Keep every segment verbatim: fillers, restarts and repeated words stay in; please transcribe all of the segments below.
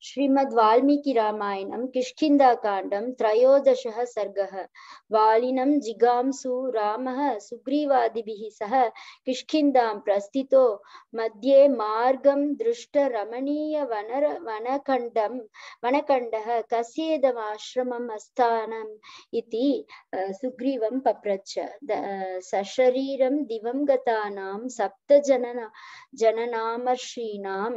श्रीमद् वाल्मीकि रामायणं किष्किन्धाकाण्डं त्रयोदशः सर्गः। वालिनं जिगांसु रामः सुग्रीवादिभिः सह किष्किन्धां प्रस्थितो मध्ये मार्गं दृष्ट रमणीय वनर वनखण्डं वनखण्डः कस्येदमाश्रमम् अस्थानम् इति सुग्रीवं पप्रच्छ। सशरीरं दिवं गतानां सप्त जनना जननामर्षीणां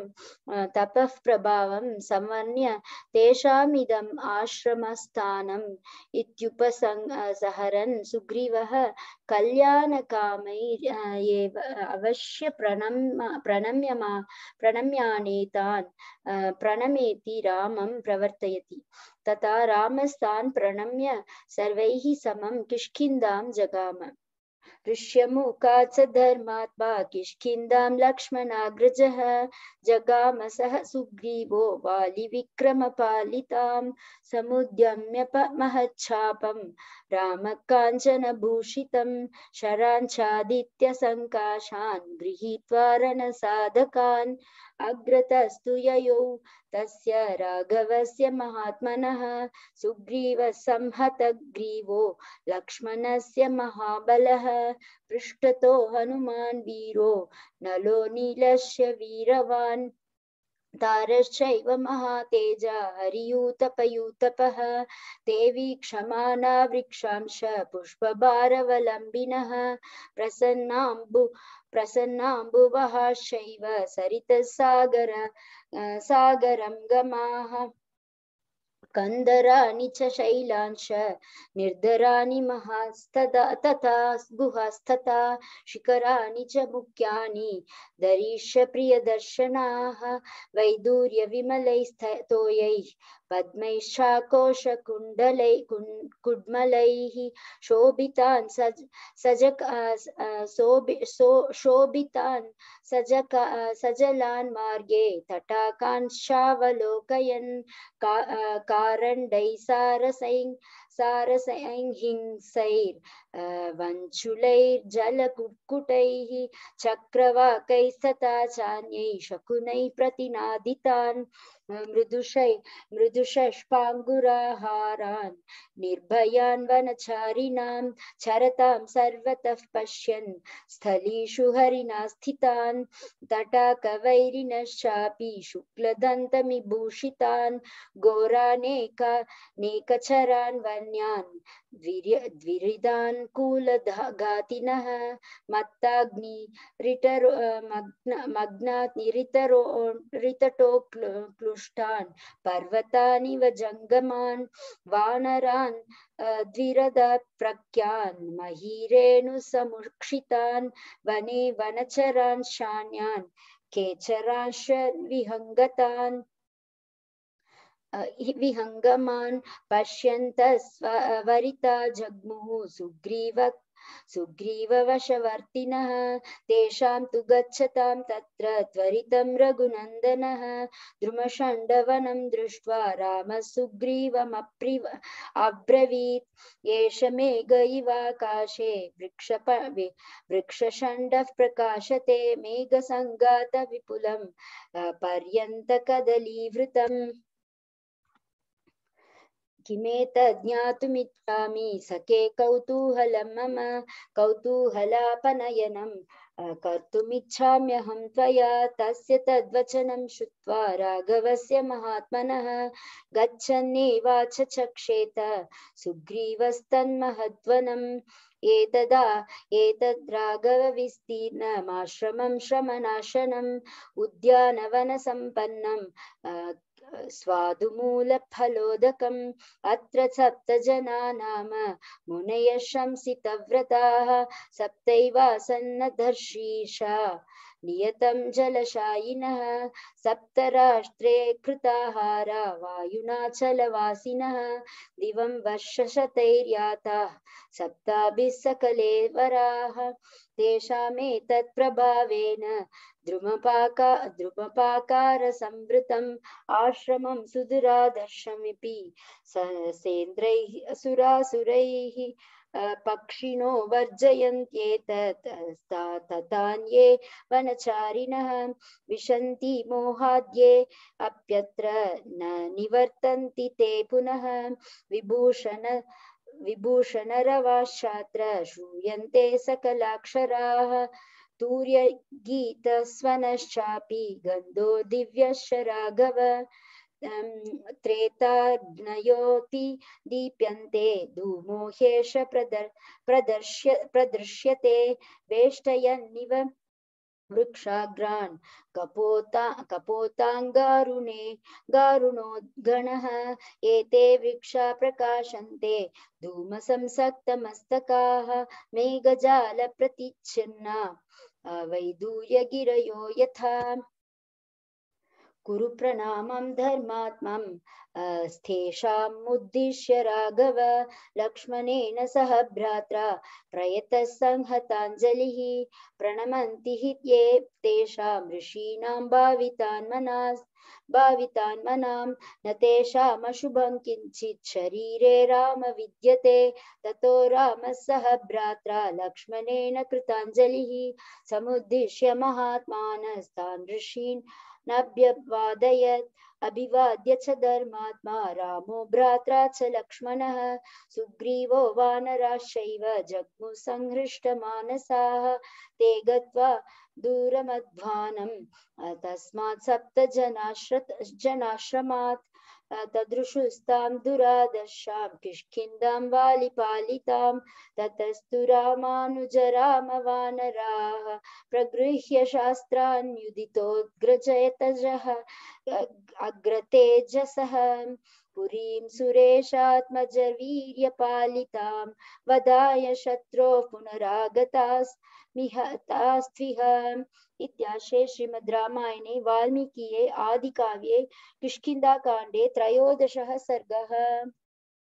तपः प्रभावं समन्य तेषामिदम् आश्रमस्थानम् इत्युपसंहरन् सुग्रीवः कल्याणकामैः एव अवश्य प्रणम्य प्रणम्यमा प्रणम्यानेतान् प्रणमेति रामं प्रवर्तयति। तथा रामस्तान् प्रणम्य सर्वैः समं किष्किन्धां जगाम। ऋष्यमुखात् स धर्मात्मा किष्किन्धां लक्ष्मणाग्रजः जगाम सह सुग्रीवो वालिविक्रमपालितां समुद्यम्य महच्छापं रामकाञ्चनभूषितं शराञ्चादित्यसङ्काशान् गृहीत्वा रणसाधकान् अग्रतस्तु ययौ तस्य राघवस्य महात्मनः सुग्रीवः संहतग्रीवो लक्ष्मणस्य महाबलः पृष्ठतो हनुमान् वीरो नलो नीलस्य वीरवान् तारश्चैव महातेजा हरियूतपयूतपः ते वीक्षमाना वृक्षांश पुष्पभारवलम्बिनः प्रसन्नाम्बु प्रसन्नाम्बुवहाश्चैव सरितसागर सागरं गमाः कंदराणि च शैलांश निर्धराणि महास्तदा तथा गुहास्तथा शिखराणि च मुख्यानि दरीश प्रियदर्शनाः वैदूर्यविमलैस्तोयैः पद्मैश्चाकोशकुण्डलै कुड्मलैः शोभितान् सज सजक शोभितान् सजक सजलान् मार्गे तटाकांशावलोकयन् का कारण्डै सारसैं सारसैंहिंसैर् वञ्चुलैर्जलकुक्कुटैः चक्रवाकैस्तथा चान्यैः शकुनैः प्रतिनादितान् मृदुषै मृदुषष्पाङ्गुराहारान् निर्भयान् वनचारिणां चरतां सर्वतः पश्यन् स्थलीषु हरिणा स्थितान् तटाकवैरिणश्चापि शुक्लदन्तमिभूषितान् घोरानेका नेकचरान् वन्यान् द्विरिदान् कूलघातिनः मत्ताग्नि रिटरो मग्नात् निरितरो रितटो क्लुष्टान् पर्वतानिव जङ्गमान् वानरान् द्विरद प्रख्यान् महीरेणुसमुक्षितान् वने वनचरान् शान्यान् केचरांश विहङ्गतान् विहङ्गमान् पश्यन्तस्वरिता जग्मुः सुग्रीव सुग्रीववशवर्तिनः तेषां तु गच्छतां तत्र त्वरितं रघुनन्दनः द्रुमशण्डवनं दृष्ट्वा रामः सुग्रीवमप्रिव अब्रवीत् एष मेघ इवाकाशे वृक्षप वृक्षशण्डः प्रकाशते मेघसङ्गात विपुलं पर्यन्तकदलीवृतम् किमेतत् ज्ञातुमिच्छामि सखे कौतूहलं मम कौतूहलापनयनं कर्तुमिच्छाम्यहं त्वया तस्य तद्वचनं श्रुत्वा राघवस्य महात्मनः गच्छन्नेवाच चक्षेत सुग्रीवस्तन्महद्वनम् एतदा एतद् राघवविस्तीर्णमाश्रमं श्रमनाशनम् उद्यानवनसम्पन्नं स्वादुमूलफलोदकम् अत्र सप्त जना नाम मुनयः शंसितव्रताः सप्तैवासन्नदर्शीषा नियतं जलशायिनः सप्तराष्ट्रे कृताहारा वायुनाचलवासिनः दिवं वर्षशतैर्याताः सप्ताभिः सकले वराः तेषामेतत् प्रभावेन द्रुमपाका द्रुमपाकारसंवृतम् आश्रमं सुदुरादर्शमिति सेन्द्रैः असुरासुरैः पक्षिणो वर्जयन्त्येतत् ततान्ये वनचारिणः विशन्ति मोहाद्ये अप्यत्र न निवर्तन्ति ते पुनः विभूषण विभूषणरवाश्चात्र श्रूयन्ते सकलाक्षराः तूर्यगीतस्वनश्चापि गन्धो दिव्यश्च राघव त्रेताग्नयोऽपि दीप्यन्ते धूमो ह्येष प्रदर् प्रदर्श्य प्रदृश्यते वेष्टयन्निव वृक्षाग्रान् कपोता कपोताङ्गारुणे गारुणोद्गणः एते वृक्षा प्रकाशन्ते धूमसंसक्तमस्तकाः मेघजालप्रतिच्छिन्ना वैदूर्यगिरयो यथा कुरु प्रणामं धर्मात्मं स्थेषामुद्दिश्य राघव लक्ष्मणेन सह भ्रात्रा प्रयतः संहताञ्जलिः प्रणमन्ति हि ये तेषां ऋषीणां भावितान् मनास् भावितान् मनां न तेषामशुभं किञ्चित् शरीरे राम विद्यते ततो रामः सह भ्रात्रा लक्ष्मणेन कृताञ्जलिः समुद्दिश्य महात्मानस्तान् ऋषीन् नाभ्यवादयत् अभिवाद्य च धर्मात्मा रामो भ्रात्रा च लक्ष्मणः सुग्रीवो वानराश्चैव जग्मुः संहृष्टमानसाः ते गत्वा दूरमध्वानं तस्मात् सप्त जनाश्रमात् तदृशुस्तां दुरादर्शां किष्किन्धां वालिपालितां ततस्तु रामानुजरामवानराः प्रगृह्य शास्त्रान् युदितोऽग्रजयतजः अग्रतेजसः पुरीं सुरेशात्मजवीर्यपालितां वदाय शत्रोः पुनरागतास्मिहतास्त्विह इत्याशे श्रीमद् रामायणे वाल्मीकिये आदिकाव्ये किष्किन्धाकाण्डे त्रयोदशः सर्गः।